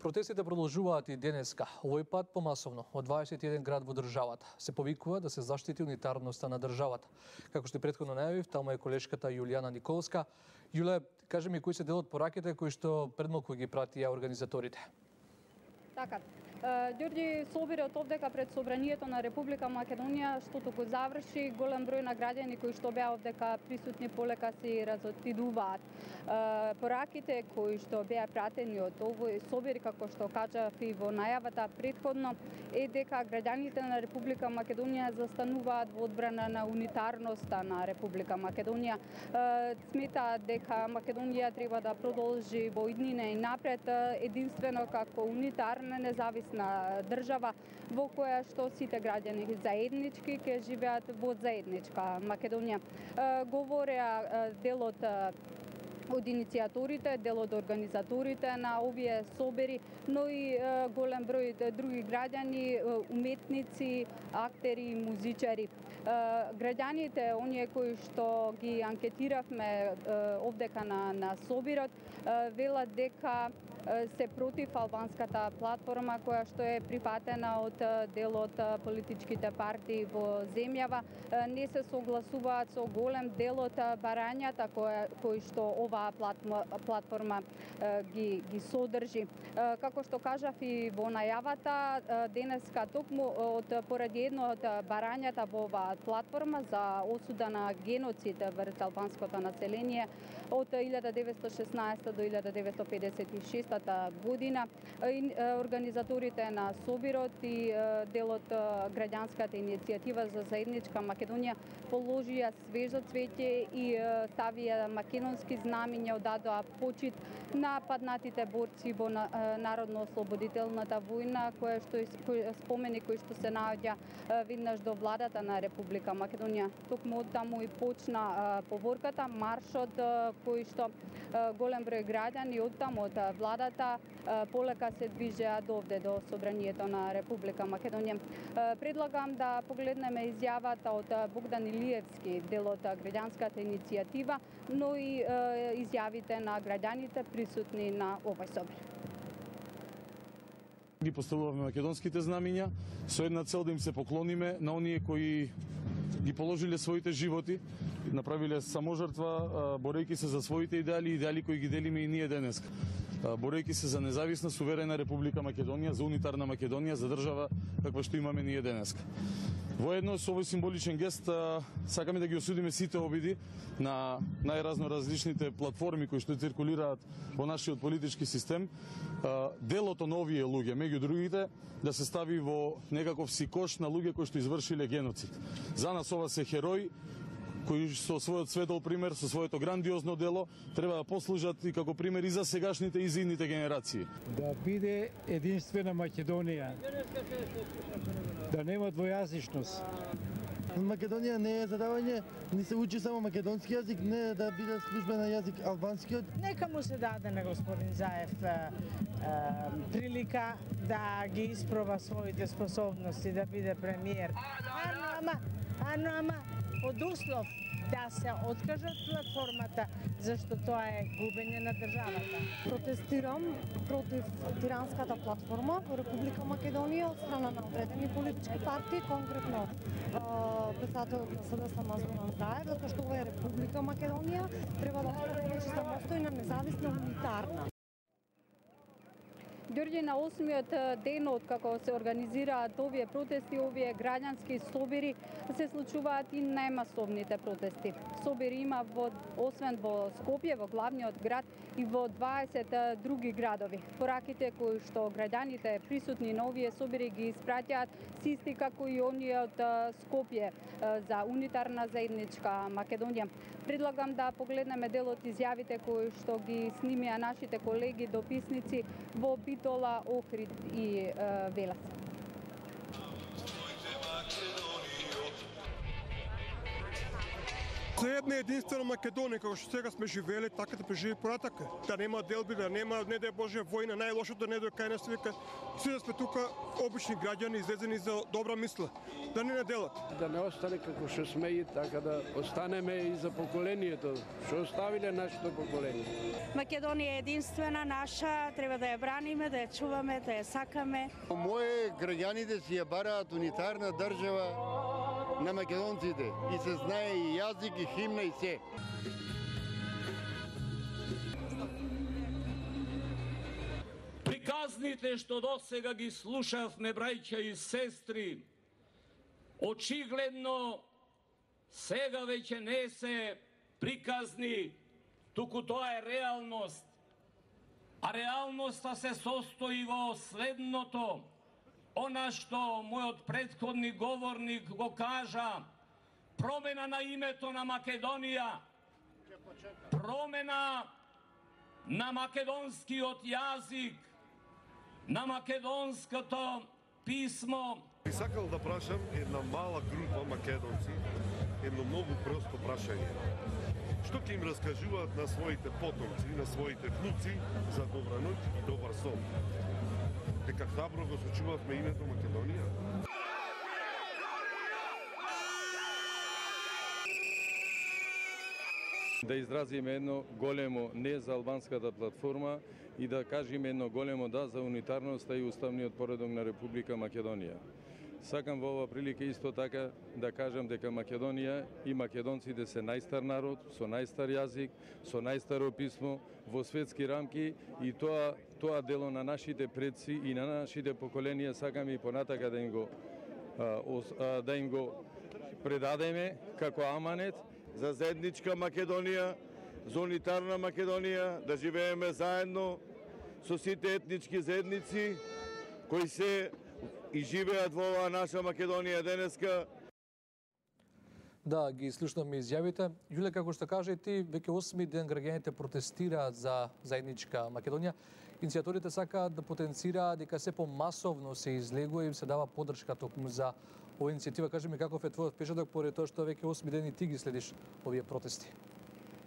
Протестите продолжуваат и денеска, овој пат помасовно, од 21 град во државата. Се повикува да се заштити унитарноста на државата. Како што претходно најавив, таму е колешката Јулијана Николска. Јуле, кажи ми кои се дел од пораките кои што предмалку ги пратија организаторите? Така. Ѓорѓи собират овдека пред Собранието на Република Македонија, што току заврши, голем број на граѓани кои што беа овдека присутни полека си разотидуваат. Пораките кои што беа пратени од овој собир, како што кажав и во најавата претходно, е дека граѓаните на Република Македонија застануваат во одбрана на унитарноста на Република Македонија. Сметаат дека Македонија треба да продолжи во иднина и напред единствено како унитарна независна држава во која што сите граѓани заеднички ќе живеат во заедничка Македонија. Говореа делот од иницијаторите, дел од организаторите на овие собери, но и голем број други граѓани, уметници, актери и музичари. Граѓаните, оние кои што ги анкетиравме овдека на собирот, велат дека се против албанската платформа која што е прифатена од дел од политичките партии во земјава. Не се согласуваат со голем дел од барањата кои што оваа платформа ги содржи. Како што кажав и во најавата, денеска токму поради едно од барањата во оваа платформа за осуда на геноцид врз албанското население од 1916 до 1956 година, организаторите на собирот и делот граѓанската иницијатива за заедничка Македонија положија свежо цвеќе и ставија македонски знамиња, одадоа почит на паднатите борци во Народно-ослободителната војна, спомени кои што се наоѓа веднаш до владата на Република Македонија. Токму од таму и почна поворката, маршот кој што голем број граѓани од таму од владата полека се движеа довде до Собранието на Република Македонија. Предлагам да погледнеме изјавата од Богдан Илиевски, дел од граѓанската иницијатива, но и изјавите на граѓаните присутни на овој собир. Ги поставуваме македонските знамиња со една цел да им се поклониме на оние кои ги положиле своите животи, направиле саможртва, борејќи се за своите идеали кои ги делиме и ние денес. Борејќи се за независна, суверена Република Македонија, за унитарна Македонија, за држава каква што имаме ние денес. Воедно со овој символичен гест сакаме да ги осудиме сите обиди на најразноразличните платформи кои што циркулираат во нашиот политички систем. Делото на овие луѓе, меѓу другите, да се стави во некаков си кош на луѓе кои што извршиле геноцид. За нас ова се херои кои со својот светол пример, со своето грандиозно дело, треба да послужат и како пример и за сегашните и за идните генерации. Да биде единствена Македонија, да нема двојазичност. Македонија не е задавање, не се учи само македонски јазик, не да биде службен јазик албанскиот. Нека му се даде на господин Заев прилика да ги испроба своите способности да биде премиер. Ама под услов да се откажат платформата, зашто тоа е губење на државата. Протестирам против тиранската платформа во Република Македонија од страна на одредени политички партии, конкретно председател на СДСМ Зоран Заев, затоа што ова е Република Македонија, треба да остане самостојна, независна, унитарна. Ѓорѓи, на 8-миот ден од како се организираат овие протести, овие граѓански собири, се случуваат и најмасовните протести. Собири има освен во Скопје, во главниот град, и во 20 други градови. Пораките кои што граѓаните присутни на овие собири ги испраќаат се исти како и оние од Скопје за унитарна заедничка Македонија. Предлагам да погледнеме дел од изјавите кои што ги снимија нашите колеги дописници во Битола, Охрид и Велес. за една единствена Македонија, како што сега сме живеели, така да преживи понатака. Да нема делби, да нема, не да е Божја војна, најлошото не да е кај нас вика. Си да сме тука обични граѓани излезени за добра мисла, да не наделат. Да не остане како што сме и така да останеме и за поколението, што оставиле нашето поколение. Македонија е единствена наша, треба да ја браниме, да ја чуваме, да ја сакаме. Моje граѓаните си ја бараат унитарна држава на македонците и се знае и јазик и химна и се. Приказните што досега ги слушавме, браќа и сестри, очигледно сега веќе не се приказни, туку тоа е реалност. А реалноста се состои во следното. Она што мојот претходни говорник го кажа, промена на името на Македонија, промена на македонскиот јазик, на македонското писмо. Би сакал да прашам една мала група македонци едно многу просто прашање. Што ќе им раскажуваат на своите потомци, на своите внуци за добра ноќ и добар сон? Дека храбро го сочувавме името Македонија? Да изразиме едно големо не за албанската платформа и да кажеме едно големо да за унитарноста и уставниот поредок на Република Македонија. Сакам во ова прилика исто така да кажам дека Македонија и македонците се најстар народ, со најстар јазик, со најстаро писмо во светски рамки и тоа дело на нашите предци и на нашите поколенија сакаме и понатака да им го предадеме како аманет за заедничка Македонија, за унитарна Македонија, да живееме заедно со сите етнички заедници кои се и живеат во оваа наша Македонија денеска. Да, ги слушнаме изјавите. Јуле, како што кажа и ти, веќе 8 ден граѓаните протестираат за заедничка Македонија. Иницијаторите сакаат да потенцираат дека се помасовно се излегува и им се дава поддршка токму за оваа иницијатива. Кажи ми каков е твојот пешадок поради тоа што веќе 8 дени ти ги следиш овие протести?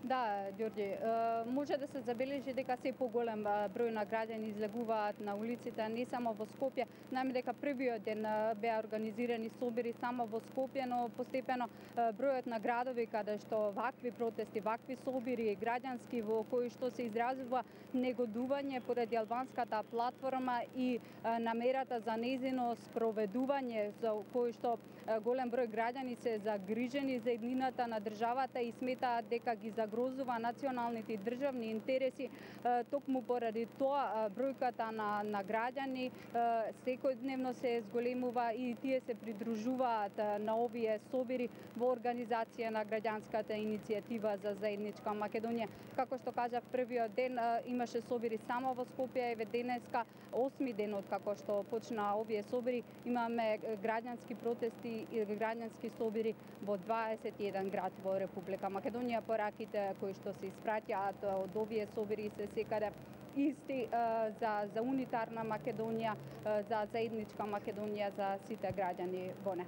Да, Ѓорѓи, може да се забележи дека се поголем број на граѓани излегуваат на улиците, не само во Скопје. Знаеме дека првиот ден беа организирани собори само во Скопје, но постепено бројот на градови каде што вакви протести, вакви собори граѓански во кои што се изразува негодување поради албанската платформа и намерата за нејзино спроведување, за кои што голем број граѓани се загрижени за еднината на државата и сметаат дека ги загрозува националните и државни интереси. Токму поради тоа бројката на граѓани секојдневно се зголемува и тие се придружуваат на овие собори во организација на граѓанската иницијатива за заедничка Македонија. Како што кажав, првиот ден имаше собори само во Скопје, еве денеска 8 ден од како што почна овие собори, имаме граѓански протести и граѓански собори во 21 град во Република Македонија. Пораките кои што се испраќаат од овие собори се секаде исти за унитарна Македонија, за заедничка Македонија за сите граѓани во неа.